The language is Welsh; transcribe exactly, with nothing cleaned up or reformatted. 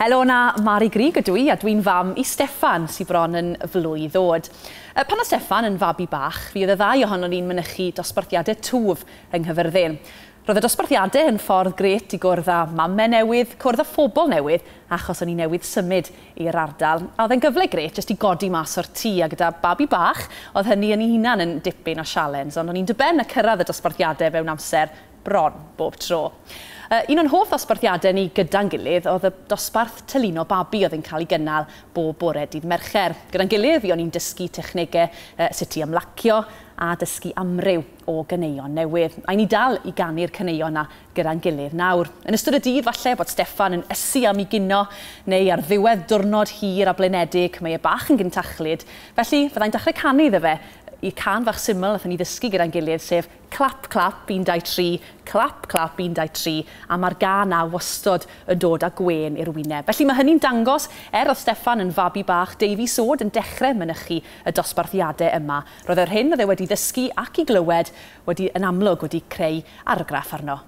Helo na, Mari Grug ydw i a dwi'n fam i Steffan sy'n bron yn flwydd oed. Pan oedd Steffan yn fabi bach, fi oedd y ddau ohonon ni'n mynychu dosbarthiadau twf yng Nghaerfyrddin. Roedd y dosbarthiadau yn ffordd grêt i gwrdd â mamau newydd, cwrdd â phobl newydd, achos o'n i newydd symud i'r ardal. A oedd e'n gyfle grêt jyst i godi mas o'r tŷ, a gyda babi bach, oedd hynny yn ei hunan yn dipyn o sialens, ond o'n i'n dyben a cyrraedd y dosbarthiadau mewn amser bron bob tro. Un o'n hoff ddosbarthiadau ni gyda'n gilydd oedd y dosbarth tylino babi oedd yn cael ei gynnal bob bore dydd Mercher. Gyda'n gilydd, fi o'n i'n dysgu technegau uh, sut i ymlacio a dysgu amryw o ganeuon newydd. A ni dal i ganu'r caneuon na gyda'n gilydd nawr. Yn ystod y dydd, falle bod Steffan yn ysu am ei gino, neu ar ddiwedd diwrnod hir a blinedig, mae e bach yn gyntachlyd. Felly, fyddai'n dechrau canu iddo fe i can fach syml nathon ni ddysgu gyda'n gilydd, sef clap, clap, un, dau, tri, clap, clap, un, dau, tri, a mae'r gân 'na wastod yn dod â gwên i'r wyneb. Felly mae hynny'n dangos, er oedd Steffan yn fabi bach, Davies Oed yn dechrau mynychu y dosbarthiadau yma. Roedd yr hyn oedd e wedi ddysgu ac i glywed wedi, yn amlwg wedi creu argraff arno.